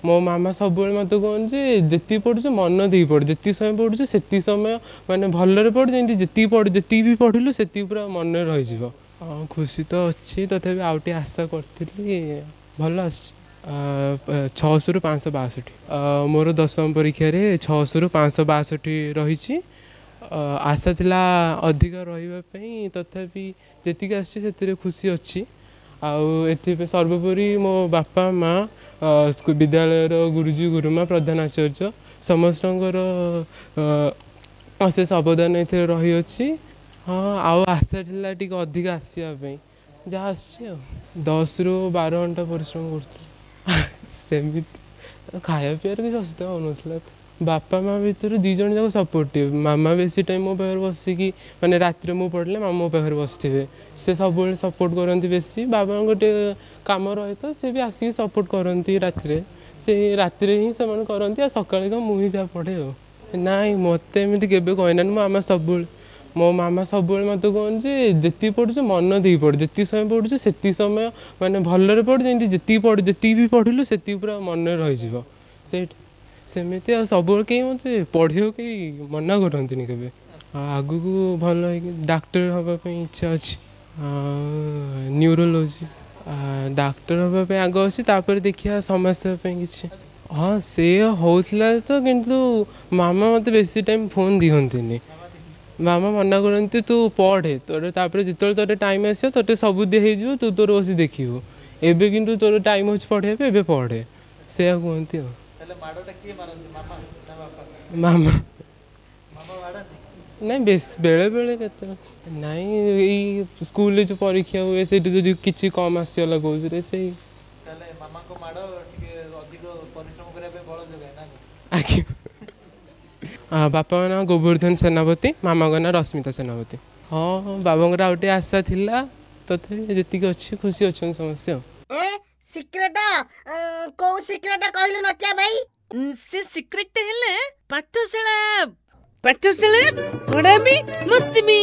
ମୋ ମାମା ସବୁବେଳେ ମୋତେ କୁହନ୍ତି ଯେ ଯେତିକି ପଢ଼ୁଛୁ ମନ ଦେଇକି ପଢ଼, ଯେତିକି ସମୟ ପଢ଼ୁଛୁ ସେତିକି ସମୟ ମାନେ ଭଲରେ ପଢ଼, ଯେମିତି ଯେତିକି ପଢ଼ ଯେତିକି ବି ପଢ଼ିଲୁ ସେତିକି ପୁରା ମନରେ ରହିଯିବ। ହଁ, ଖୁସି ତ ଅଛି, ତଥାପି ଆଉ ଟିକେ ଆଶା କରିଥିଲି, ଭଲ ଆସିଛି। 600ରୁ 562। ମୋର ଦଶମ ପରୀକ୍ଷାରେ 600ରୁ 562 ରହିଛି। ଆଶା ଥିଲା ଅଧିକ ରହିବା ପାଇଁ, ତଥାପି ଯେତିକି ଆସିଛି ସେଥିରେ ଖୁସି ଅଛି। ଆଉ ଏଥିପାଇଁ ସର୍ବୋପରି ମୋ ବାପା ମା, ବିଦ୍ୟାଳୟର ଗୁରୁଜୀ ଗୁରୁମା, ପ୍ରଧାନ ଆଚାର୍ଯ୍ୟ ସମସ୍ତଙ୍କର ଅଶେଷ ଅବଦାନ ଏଥିରେ ରହିଅଛି। ହଁ, ଆଉ ଆଶା ଥିଲା ଟିକେ ଅଧିକ ଆସିବା ପାଇଁ, ଯାହା ଆସିଛି। ଆଉ 10ରୁ 12 ଘଣ୍ଟା ପରିଶ୍ରମ କରୁଥିଲି। ସେମିତି ଖାଇବା ପିଇବାରେ କିଛି ଅସୁବିଧା ହେଉନଥିଲା। ବାପା ମା ଭିତରୁ 2 ଜଣ ଯାକ ସପୋର୍ଟିଭ୍। ମାମା ବେଶୀ ଟାଇମ୍ ମୋ ପାଖରେ ବସିକି, ମାନେ ରାତିରେ ମୁଁ ପଢ଼ିଲେ ମାମା ମୋ ପାଖରେ ବସିଥିବେ, ସେ ସବୁବେଳେ ସପୋର୍ଟ କରନ୍ତି ବେଶୀ। ବାବାଙ୍କ ଟିକେ କାମ ରହେ ତ ସେ ବି ଆସିକି ସପୋର୍ଟ କରନ୍ତି ରାତିରେ, ସେ ରାତିରେ ହିଁ ସେମାନେ କରନ୍ତି, ଆଉ ସକାଳେ ତ ମୁଁ ହିଁ ଯାହା ପଢ଼େ। ଆଉ ନାଇଁ, ମୋତେ ଏମିତି କେବେ କହିନାହାନ୍ତି। ମୋ ମାମା ସବୁବେଳେ ମୋତେ କୁହନ୍ତି ଯେ ଯେତିକି ପଢ଼ୁଛୁ ମନ ଦେଇକି ପଢ଼, ଯେତିକି ସମୟ ପଢ଼ୁଛୁ ସେତିକି ସମୟ ମାନେ ଭଲରେ ପଢ଼, ଯେମିତି ଯେତିକି ପଢ଼ ଯେତିକି ବି ପଢ଼ିଲୁ ସେତିକି ପୁରା ମନରେ ରହିଯିବ। ସେଇଟା ସେମିତି। ଆଉ ସବୁବେଳେ କେହି ମୋତେ ପଢ଼ିବାକୁ କେହି ମନା କରନ୍ତିନି କେବେ। ଆଉ ଆଗକୁ ଭଲ ହେଇକି ଡାକ୍ତର ହେବା ପାଇଁ ଇଚ୍ଛା ଅଛି, ଆଉ ନ୍ୟୁରୋଲୋଜି ଡାକ୍ତର ହେବା ପାଇଁ ଆଗ ଅଛି, ତାପରେ ଦେଖିବା ସମାଜସେବା ପାଇଁ କିଛି। ହଁ, ସେ ହେଉଥିଲା ତ, କିନ୍ତୁ ମାମା ମୋତେ ବେଶୀ ଟାଇମ୍ ଫୋନ୍ ଦିଅନ୍ତିନି। ମାମା ମନା କରନ୍ତି ତୁ ପଢ଼େ ତୋର, ତାପରେ ଯେତେବେଳେ ତୋର ଟାଇମ୍ ଆସିବ ତୋତେ ସବୁ ଦିଆ ହେଇଯିବ, ତୁ ତୋର ବସି ଦେଖିବୁ। ଏବେ କିନ୍ତୁ ତୋର ଟାଇମ୍ ଅଛି ପଢ଼ିବା ପାଇଁ, ଏବେ ପଢ଼େ, ସେଇଆ କୁହନ୍ତି। ଆଉ ମାମା ନାଇଁ, ବେଶ ବେଳେବେଳେ କେତେବେଳେ ନାଇଁ। ଏଇ ସ୍କୁଲରେ ଯେଉଁ ପରୀକ୍ଷା ହୁଏ ସେଇଠି ଯଦି କିଛି କମ୍ ଆସିଗଲା କେଉଁଥିରେ, ସେଇ। ଆଜ୍ଞା। ବାପାଙ୍କ ନାଁ ଗୋବର୍ଦ୍ଧନ ସେନାପତି, ମାମାଙ୍କ ନାଁ ରଶ୍ମିତା ସେନାପତି। ହଁ, ବାବାଙ୍କର ଆଉ ଟିକେ ଆଶା ଥିଲା, ତଥାପି ଯେତିକି ଅଛି ଖୁସି ଅଛନ୍ତି ସମସ୍ତେ। ଆଉ ଏ ସିକ୍ରେଟ, କୋଉ ସିକ୍ରେଟ କହିଲୁ ନଟିଆ ଭାଇ? ସେ ସିକ୍ରେଟଟା ହେଲା ପାଠଶାଳା, ପାଠଶାଳା ପଢାବି ମସ୍ତି ବି।